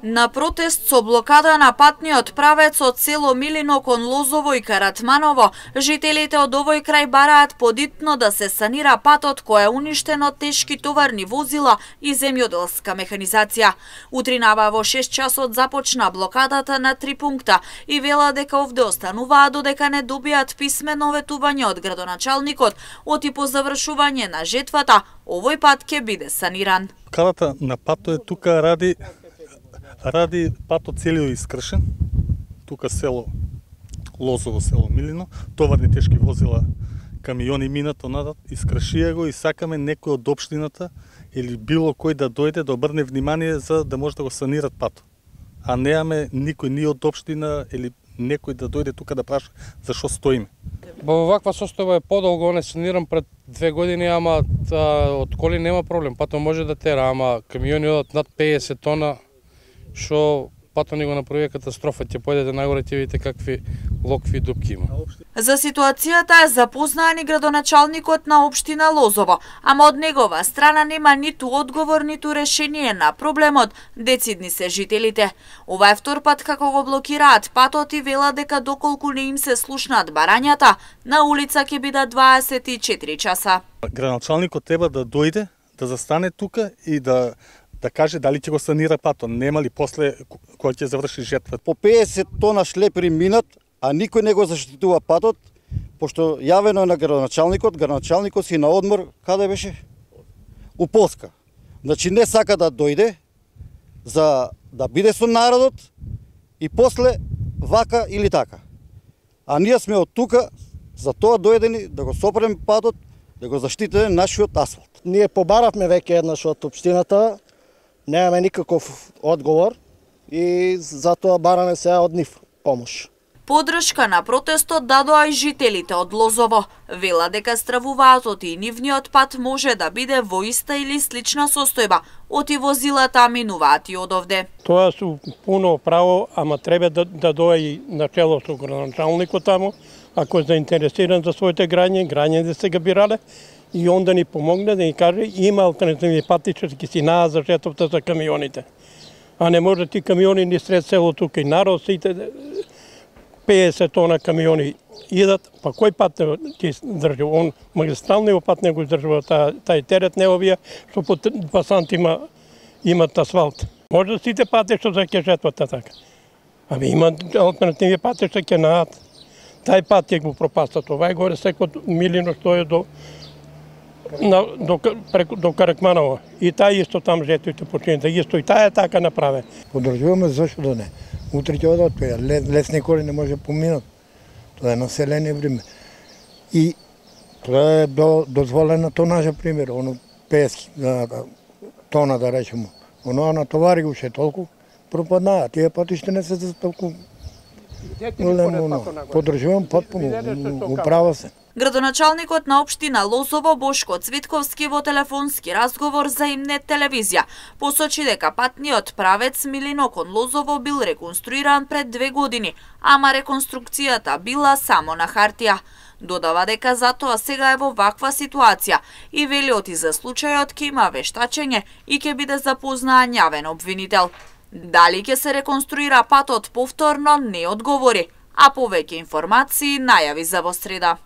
На протест со блокада на патниот правец од село Милино кон Лозово и Каратманово, жителите од овој крај бараат подитно да се санира патот кој е уништен од тешки товарни возила и земјоделска механизација. Утринава во 6 часот започна блокадата на 3 пункта и вела дека овде остануваат додека не добијат писмено ветување од градоначалникот, оти по завршување на жетвата, овој пат ќе биде саниран. Блокадата на патот е тука ради патот целиот искршен, тука село Лозово, село Милино, товарни тешки возила, камиони минат онадат, искршија го и сакаме некој од општината или било кој да дојде да обрне внимание за да може да го санират патот. А немаме никој ни од општина или некој да дојде тука да праша зашо стоиме. Во ваква состојба е подолго, не санирам пред 2 години, ама од коли нема проблем, патот може да тера, ама камиони одат над 50 тона, што патот ни го направи катастрофа, ќе појдете нагоре, ќе видите какви локви и дупки има. За ситуацијата е запознаен и градоначалникот на општина Лозово, ама од негова страна нема ниту одговор, ниту решение на проблемот, децидни се жителите. Ова е втор пат како го блокираат патот и вела дека доколку не им се слушнаат барањата, на улица ќе бидат 24 часа. Градоначалникот треба да дојде, да застане тука и да каже дали ќе го санира патот, нема ли после кога ќе заврши жетва. По 50 тона шлепери минат, а никој не го заштитува патот, пошто јавено е на градоначалникот си на одмор, каде беше? У Полска. Значи не сака да дојде за да биде со народот и после вака или така. А ние сме од тука за тоа дојдени да го сопрем патот, да го заштитиме нашиот асфалт. Ние побаравме веќе еднаш од општината, немаме никаков одговор и затоа бараме сега од нив помош. Подршка на протестот дадоа и жителите од Лозово. Вела дека стравуваат оти нивниот пат може да биде во иста или слична состојба, оти возилата минуваат и одовде. Тоа су пуно право, ама треба да дојде и начело со градоначалникот таму, ако е заинтересиран за своите граѓани да се ги бирале, и он да ни помогне, да ни каже има алтернативни пати што ќе си најдат за жетвата за камионите. А не може ти камиони ни сред село тука и народ сите 50 тона камиони идат, па кој пат ќе држи? Он магистралниот пат не го издржува тај терет неговија, што по пасанти имат асфалт. Може сите пати што за ќе жетвата така. Ами има алтернативни пати што ќе најдат. Тај пат ќе го пропастат. Ова е горе секој Милино што е до Каратманово. И тај исто там жетвите почините, исто и тај е така направе. Подржуваме, зашто да не. Утре ќе одат, лесни коли не може поминат. Тоа е население време. И тоа е дозволена тонажа, пример, оно 50 тона да речемо. Оно на товари уште толку пропаднаа. Тие патиште не се за толку големо. Подржувам потпуно, управа се. Градоначалникот на општина Лозово Бошко Цвитковски во телефонски разговор за Имнет телевизија посочи дека патниот правец Милино кон Лозово бил реконструиран пред 2 години, ама реконструкцијата била само на хартија. Додава дека затоа сега е во ваква ситуација и вели оти за случајот ќе има вештачење и ќе биде запознаан јавен обвинител. Дали ќе се реконструира патот повторно не одговори, а повеќе информации најави за во среда.